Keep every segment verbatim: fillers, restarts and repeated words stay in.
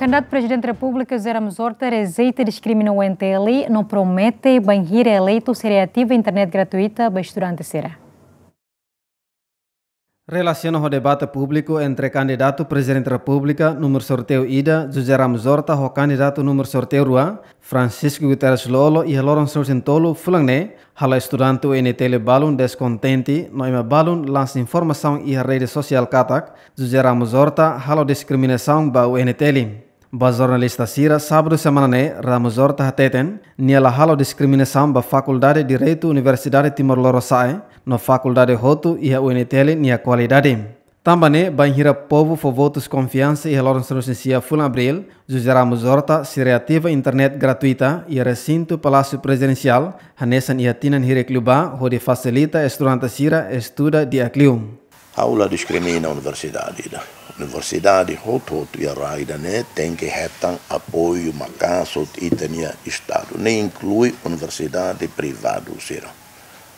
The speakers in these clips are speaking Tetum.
Kandidatu Prezidente Repúblika José Ramos Horta rejeita diskrimina U N T L no promete bainhira eleitu sei reativa internet gratuita ba estudante sira. Relasiona ho debate públiku entre kandidatu Prezidente Repúblika númeru sorteiu ida, José Ramos Horta, ho kandidatu númeru sorteiu rua, Francisco Guterres Lú-Olo, iha loron sanulu-resin-tolu fulan ne'e, halo estudante U N T L balun deskontente, no ema balun lansa informasaun iha rede sosiál katak José Ramos Horta halo diskriminasaun ba U N T L. Ba jornalista sira, sábadu semana ne'e, Ramos Horta hateten, nia la halo diskriminasaun ba Fakuldade Direitu Universidade Timor Lorosa'e, no fakuldade hotu iha U N T L nia kualidade. Tanba ne'e, bainhira povu fó votus konfiansa iha loron sanulu-resin-sia fulan Abríl, José Ramos Horta sei reativa internet gratuita iha resintu Palásiu Prezidensiál, hanesan iha tinan hirak liubá, hodi fasilita estudante sira estuda di'ak liu. Ha'u la diskrimina universidade ida. Universidade hotu-hotu iha rai ida-ne'e tenke hetan apoiu maka'as hotu ita-nia Estadu. Ne'e inklui universidade privadu sira.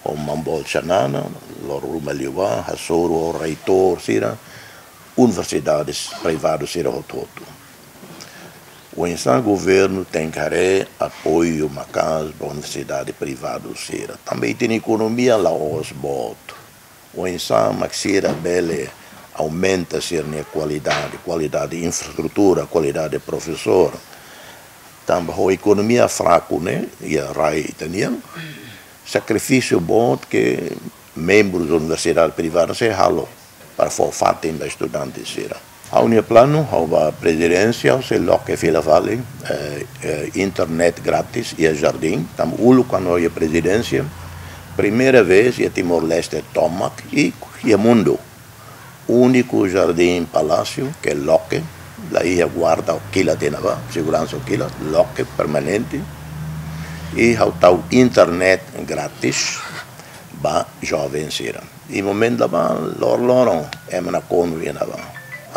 Ho mambolsa nana, loron ruma liubá, hasoru ho reitór sira, universidades privadu sira hotu-hotu. Oinsá governu tenke haree apoiu maka'as ba universidade privadu sira. Tanba ita-nia ekonomia la'ós boot. Oinsá mak sira bele aumenta sira-nia kualidade, kualidade infraestrutura, kualidade profesór. Tanba ho ekonomia fraku ne'e, iha rai ita-nian, sakrifísiu boot ke membrus universidade privada sei halo para fó fatin ba estudante sira. Ha'u-nia planu, ha'u ba prezidénsia, ha'u sei loke fila fali, eh, eh, internet grátis iha Jardim. Tanba uluk kuandu iha prezidénsia, primeira vez iha Timor-Leste tomak i iha mundu. Úniku Jardim Palásiu ke loke, la iha guarda kilat iha ne'ebá, seguransa kilat, loke permanente. I ha'u tau internet grátis ba joven sira. I momentu ne'ebá, lor-loron, ema nakonu iha ne'ebá.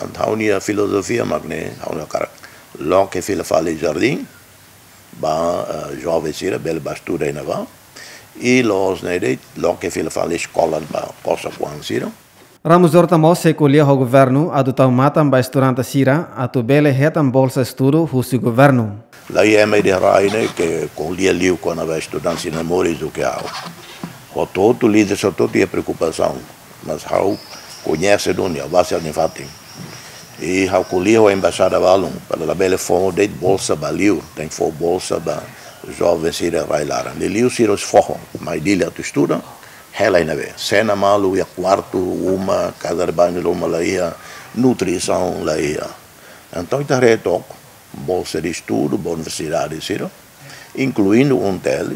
Entaun ha'u-nia filozofia mak ne'e, ha'u hakarak loke fila fali Jardim, ba, eh, joven sira, bele ba estuda iha ne'ebá. I loos ne'e de'it, loke fila fali eskola ba kosok-oan sira. Ramos Horta mós sei ko'alia ho governu atu tau matan ba estudante sira atu bele hetan bolsa estudu husi governu. La iha ema ida iha rai ne'e ke ko'alia liu kona-ba estudante sira moris duké ha'u. Hotu-hotu líder sira hotu-hotu iha preokupasaun, mas ha'u koñese duni, ha'u basa nia fatin. I ha'u ko'alia ho embaixada balun, para labele fó de'it bolsa ba li'ur, tenke fó bolsa ba joven sira rai laran. Liuliu sira husi foho, mai Dili atu estuda, hela iha ne'ebé. Sena malu iha kuartu, uma, casa de banho la iha, nutrisaun la iha. Entaun ita haree took bolsa de estudu ba universidade sira, inkluindu U N T L.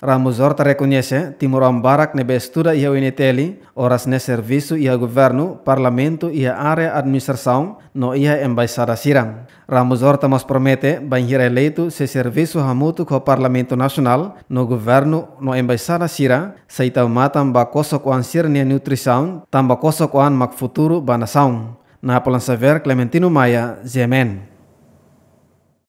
Ramos Horta rekoñese, timoroan barak ne'ebé estuda iha U N T L, oras ne'e servisu iha governu, parlamentu, iha área administrasaun, no iha embaixada sira. Ramos Horta mós promete, bainhira eleitu, sei servisu hamutuk ho Parlamentu Nasionál, no governu, no embaixada sira, sei tau matan ba kosok-oan sira-nia nutrisaun, tanba kosok-oan mak futuru ba nasaun. Napoleon Xavier, Clementino Maia, G M N.